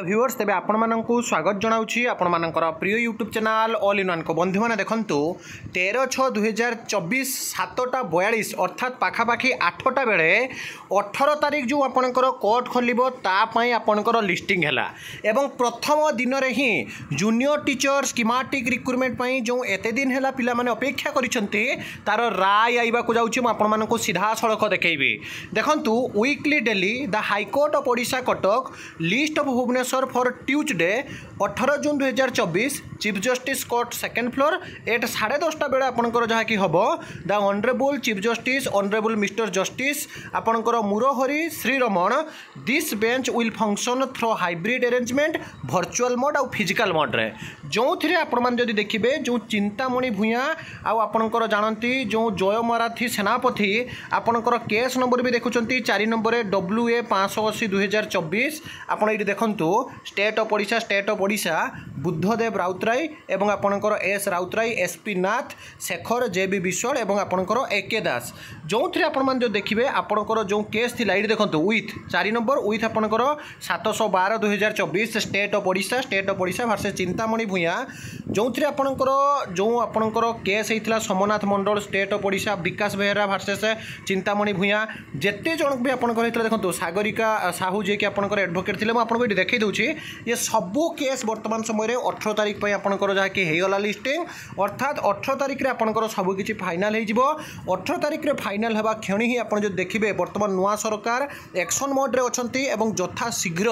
Viewers, ତେବେ ଆପଣମାନଙ୍କୁ ସ୍ୱାଗତ ଜଣାଉଛି ଆପଣମାନଙ୍କର ପ୍ରିୟ ୟୁଟ୍ୟୁବ୍ ଚ୍ୟାନେଲ୍ ଅଲ୍ ଇନ୍ ୱାନ୍କୁ। ବନ୍ଧୁମାନେ ଦେଖନ୍ତୁ, 13/6/2024 7:42, ଅର୍ଥାତ୍ ପାଖାପାଖି 8ଟା ବେଳେ 18 ତାରିଖ ଯେଉଁ ଆପଣଙ୍କର କୋର୍ଟ ଖୋଲିବ, ତା ପାଇଁ ଆପଣଙ୍କର ଲିଷ୍ଟିଂ ହେଲା ଏବଂ ପ୍ରଥମ ଦିନରେ ହିଁ ଜୁନିୟର ଟିଚର ସ୍କିମାଟିକ୍ ରିକ୍ରୁଟମେଣ୍ଟ ପାଇଁ ଯେଉଁ ଏତେ ଦିନ ହେଲା ପିଲାମାନେ ଅପେକ୍ଷା କରିଛନ୍ତି, ତାର ରାୟ ଆଇବାକୁ ଯାଉଛି। ମୁଁ ଆପଣମାନଙ୍କୁ ସିଧାସଳଖ ଦେଖେଇବି। ଦେଖନ୍ତୁ, weekly daily the High Court of Odisha, Cuttack, list of Bhubaneswar for Tuesday 18 June 2024, Chief Justice Court, second floor, at 10:30 ବେଳେ ଆପଣଙ୍କର ଯାହାକି ହେବ। The Honourable Chief Justice, Honourable Mister Justice ଆପଣଙ୍କର ମୁରହରି ଶ୍ରୀରମଣ। This bench will function through hybrid arrangement, virtual mode ଆଉ physical ମୋଡ଼୍ରେ, ଯେଉଁଥିରେ ଆପଣମାନେ ଯଦି ଦେଖିବେ, ଯେଉଁ ଚିନ୍ତାମଣି ଭୂୟାଁ ଆଉ ଆପଣଙ୍କର ଜାଣନ୍ତି ଯେଉଁ ଜୟ ମରାଠୀ ସେନାପତି, ଆପଣଙ୍କର କେସ୍ ନମ୍ବର ବି ଦେଖୁଛନ୍ତି 4 ନମ୍ବରରେ WA 580 2024। ଆପଣ ଏଇଠି ଦେଖନ୍ତୁ, State of Odisha, State of Odisha, Buddhadev Routray ଏବଂ ଆପଣଙ୍କର ଏସ୍ ରାଉତରାୟ, ଏସ୍ ପି ନାଥ, ଶେଖର ଜେ ବି ବିଶ୍ୱାଳ ଏବଂ ଆପଣଙ୍କର ଏ କେ ଦାସ। ଯେଉଁଥିରେ ଆପଣମାନେ ଯଦି ଦେଖିବେ, ଆପଣଙ୍କର ଯେଉଁ କେସ୍ ଥିଲା, ଏଇଠି ଦେଖନ୍ତୁ, ୱିଥ୍ 4 ନମ୍ବର ୱିଥ୍ ଆପଣଙ୍କର 712 2024, State of Odisha, State of Odisha versus Chintamani Bhuyan, ଯେଉଁଥିରେ ଆପଣଙ୍କର ଯେଉଁ ଆପଣଙ୍କର କେସ୍ ହେଇଥିଲା Somnath Mandal, state of Odisha, Bikash Behera versus Chintamani Bhuyan, ଯେତେ ଜଣକୁ ବି ଆପଣଙ୍କର ହେଇଥିଲା। ଦେଖନ୍ତୁ, ସାଗରିକା ସାହୁ ଯିଏକି ଆପଣଙ୍କର ଆଡ଼ଭୋକେଟ୍ ଥିଲେ। ମୁଁ ଆପଣଙ୍କୁ ଏଠି ଦେଖାଇ ଦେଉଛି, ଇଏ ସବୁ କେସ୍ ବର୍ତ୍ତମାନ ସମୟରେ 18 ତାରିଖ ପାଇଁ ଆପଣଙ୍କର ଯାହାକି ହେଇଗଲା ଲିଷ୍ଟିଂ। ଅର୍ଥାତ୍ 18 ତାରିଖରେ ଆପଣଙ୍କର ସବୁକିଛି ଫାଇନାଲ୍ ହେଇଯିବ। 18 ତାରିଖରେ ଫାଇନାଲ୍ ହେବା କ୍ଷଣି ହିଁ ଆପଣ ଯଦି ଦେଖିବେ, ବର୍ତ୍ତମାନ ନୂଆ ସରକାର ଆକ୍ସନ୍ ମୋଡ଼୍ରେ ଅଛନ୍ତି ଏବଂ ଯଥା ଶୀଘ୍ର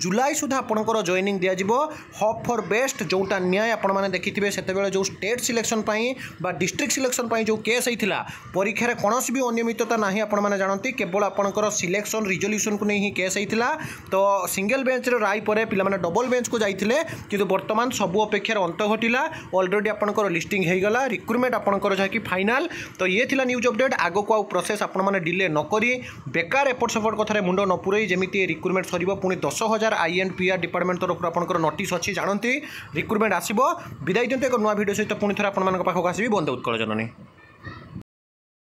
ଜୁଲାଇ ସୁଦ୍ଧା ଆପଣଙ୍କର ଜଏନିଂ ଦିଆଯିବ। Hope for best. ଯେଉଁଟା ନ୍ୟାୟ ଆପଣମାନେ ଦେଖିଥିବେ, ସେତେବେଳେ ଯେଉଁ ଷ୍ଟେଟ୍ ସିଲେକ୍ସନ୍ ପାଇଁ ବା ଡିଷ୍ଟ୍ରିକ୍ଟ ସିଲେକ୍ସନ୍ ପାଇଁ ଯେଉଁ କେସ୍ ହେଇଥିଲା, ପରୀକ୍ଷାରେ କୌଣସି ବି ଅନିୟମିତତା ନାହିଁ, ଆପଣମାନେ ଜାଣନ୍ତି, କେବଳ ଆପଣଙ୍କର ସିଲେକ୍ସନ୍ ରିଜଲ୍ୟୁସନ୍କୁ ନେଇ ହିଁ କେସ୍ ହେଇଥିଲା। ତ ସିଙ୍ଗଲ ବେଞ୍ଚର ରାୟ ପରେ ପିଲାମାନେ ଡବଲ ବେଞ୍ଚକୁ ଯାଇଥିଲେ, କିନ୍ତୁ ବର୍ତ୍ତମାନ ସବୁ ଅପେକ୍ଷାର ଅନ୍ତ ଘଟିଲା। ଅଲରେଡ଼ି ଆପଣଙ୍କର ଲିଷ୍ଟିଂ ହେଇଗଲା, ରିକ୍ରୁଟମେଣ୍ଟ ଆପଣଙ୍କର ଯାହାକି ଫାଇନାଲ୍। ତ ଇଏ ଥିଲା ନ୍ୟୁଜ୍ ଅପଡେଟ୍। ଆଗକୁ ଆଉ ପ୍ରୋସେସ୍ ଆପଣମାନେ ଡିଲେ ନ କରି, ବେକାର ଏପଟ ସେପଟ କଥାରେ ମୁଣ୍ଡ ନ ପୁରେଇ, ଯେମିତି ରିକ୍ରୁଟମେଣ୍ଟ ସରିବ, ପୁଣି 10,000 I and P R department ତରଫରୁ ଆପଣଙ୍କର ନୋଟିସ୍ ଅଛି, ଜାଣନ୍ତି, ରିକ୍ରୁଟମେଣ୍ଟ ଆସିବ। ବିଦାୟ ଦିଅନ୍ତୁ। ଏକ ନୂଆ ଭିଡ଼ିଓ ସହିତ ପୁଣି ଥରେ ଆପଣମାନଙ୍କ ପାଖକୁ ଆସିବି। ବନ୍ଦେ ଉତ୍କଳ ଜନନୀ।